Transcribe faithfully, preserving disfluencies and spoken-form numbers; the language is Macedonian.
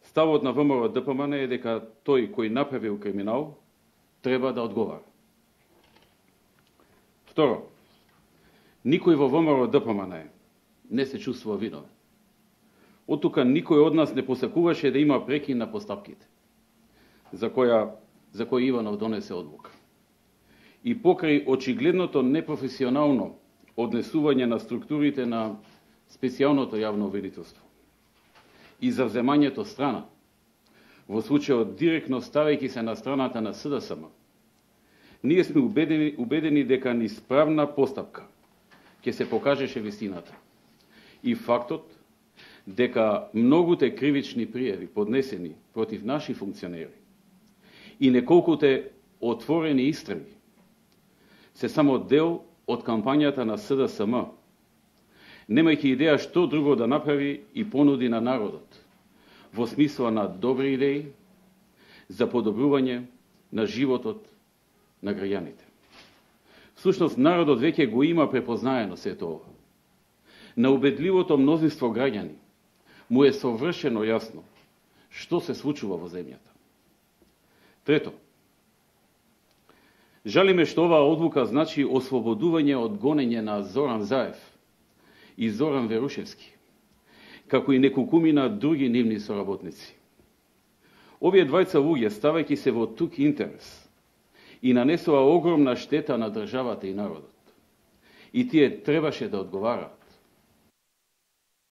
Ставот на ВМРО Д П М Н е дека тој кој направил криминал треба да одговара. Второ, никој во ВМРО Д П М Н не се чувствува виновен. Од тука никој од нас не посакуваше да има прекин на постапките, за која за кој Иванов донесе одлука. И покрај очигледното непрофесионално однесување на структурите на специјалното јавно обвинителство и завземањето страна, во случајот директно ставајќи се на страната на С Д С М, ние сме убедени, убедени дека низ правна постапка ќе се покажеше вистината. И фактот дека многуте кривични пријави поднесени против наши функционери и неколкуте отворени истраги се само дел од кампањата на С Д С М, немајќи идеја што друго да направи и понуди на народот во смисла на добри идеи за подобрување на животот на граѓаните. Всушност, народот веќе го има препознаено сето ова. На убедливото мнозинство граѓани му е совршено јасно што се случува во земјата. Трето, жалиме што оваа одлука значи ослободување од гонење на Зоран Заев и Зоран Верушевски, како и неколкумина други нивни соработници. Овие двајца луѓе, ставајќи се во тук интерес, и нанесува огромна штета на државата и народот. И тие требаше да одговараат.